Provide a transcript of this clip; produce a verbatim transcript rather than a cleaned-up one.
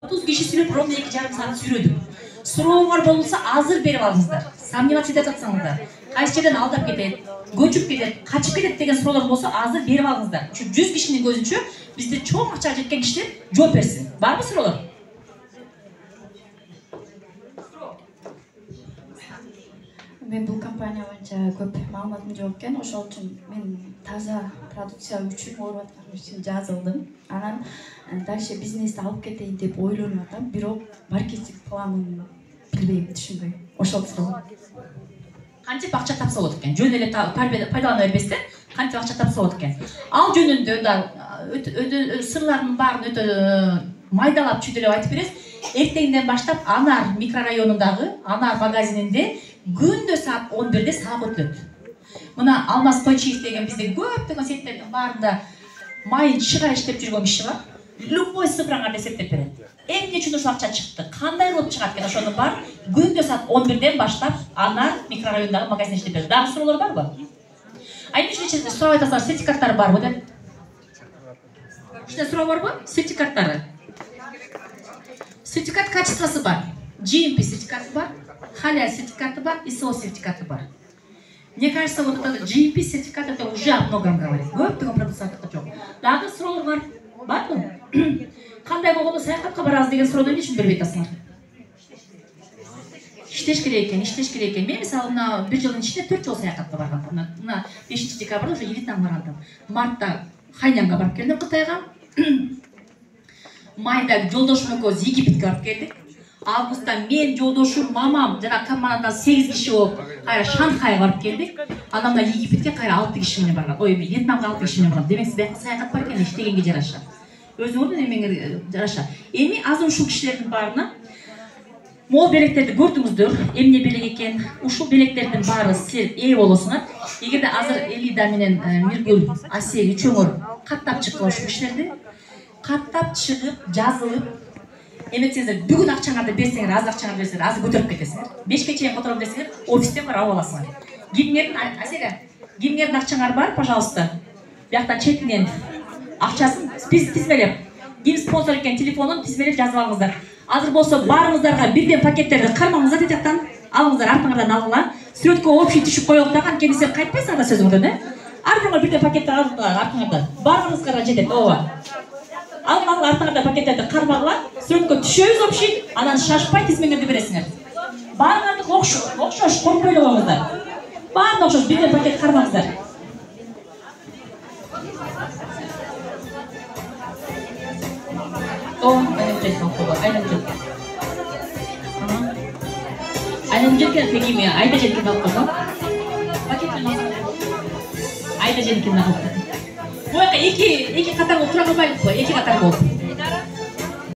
отуз киши сүйлөп ровно эки жарым саат сүйлөдүк. Сурооңор болсо азыр берип алыңыздар. Сомневаться этип жатсаңыздар, кайсы жерден алдап кетет, көчүп кетет, качып кетет деген суроолор болсо азыр берип алыңыздар. Ушу жүз кишинин көзүнчө бизде чоң акчага жеткен кишилер жооп берсин. Барбы суроолор? Мен бул компания боюнча көп маалыматым жок экен, ошол үчүн мен таза продукция үчүн ооруп атканым үчүн жазылдым. Анан дальше бизнести алып кетейин деп ойлонуп атам, бирок маркетинг планын билбейм, түшүнбөйм. Ошол суроо. Кантип акча тапса болот экен? Жөн эле пайдалана бербестен кантип акча тапса болот экен? Ал жөнүндө да сырлардын баарын өтө майдалап чүйдөлөп айтып бересиз. Эртеңден баштап Анар микрорайонундагы Анар магазининде күндө саат он бирде сабак өтүлөт. Мына Алмаз Тойчиев деген бизде көптөгөн сеттердин баарында майын чыгар иштеп жүргөн киши бар. Любой сыпыраңар эсептеп берет. Эмне үчүн ушул акча чыкты? Кандай кылып чыгат экен? Ошонун баары күндө саат он бирден баштап Анар микрорайонундагы магазинде иштеп берет. Дагы суроолор барбы? Айым үчүн сурап айтасыңар, сертификаттары барбы деп? Ушундай суроо барбы? Сертификаттары. Сертификат качествосы бар. джи эм пи сертификаты бар, халяль сертификаты бар, ай эс о сертификаты бар. Мне кажется, вот этот джи эм пи сертификат это уже о многом говорит. Көптөгөн продукциялар жок. Дагы суроолор бар. Барбы? Кандай болгондо саякатка барабыз деген суроону эмне үчүн бербей атасыңар? Иштеш керек экен, иштеш керек экен. Мен мисалы мына бир жылдын ичинде төрт жолу саякатка баргам. Мына бешинчи декабрда уже Вьетнамга бардым. Мартта Хайнянга барып келдим, Кытайга. Майда жолдошум экөөбүз Египетке барып келдик. Августта мен, жолдошум, мамам жана командадан сегиз киши болуп кайра Шанхайга барып келдик. Анан мына Египетке кайра алты киши менен барган. Ой, Вьетнамга алты киши менен барган. Демек сиз бияка саякат бар экен, иштегенге жараша. Өзүңөрдүн эмеңер жараша. Эми азыр ушул кишилердин баарына мол белектерди көрдүңүздөр. Эмне белек экен? Ушул белектердин баары силер ээ болосуңар. Эгерде азыр Элида менен Миргүл, Асел үчөөңөр каттап чыккан ушул кишилерди, каттап чыгып, жазылып, эметсеңиздер бүгүн акчаңарды берсеңер, аз акчаңарды берсеңер, азыр көтөрүп кетесиңер. бешке чейин котором десеңер, офистен барып алып аласыңар. Кимдердин Аселя, кимдердин акчаңар бар, пожалуйста. Бияктан четинен акчасын тизмелеп, ким спонсор экен телефонун тизмелеп жазып алыңыздар. Азыр болсо баарыңыздарга бирден пакеттерди кармаңыздар деп жактан алыңыздар, артыңардан алгыла. Сүрөткө общий түшүп коелук да, анткени сен кайтпайсың да сөзүңдөн, э? Ар бириңер бирден пакетти алыңыздар, артыңардан. Баарыңызга жетет, ооба. Алып алып артыңарда пакеттерди кармагыла, сүрөткө түшөбүз общий, анан шашпай тизмеңерди бересиңер. Баарыңарды окшош, коркпой эле коюңуздар. Баарын окшош, бирден пакет кармаңыздар. О, айнап жеткен кулдар, айнап жеткен. Айнап жеткен тегиме, айда жеткен алып койгон. Пакеттен алып. Айда жеткен алып койгон. Буяка эки эки катар болуп тура калбайлыкпы? Эки катар болуп.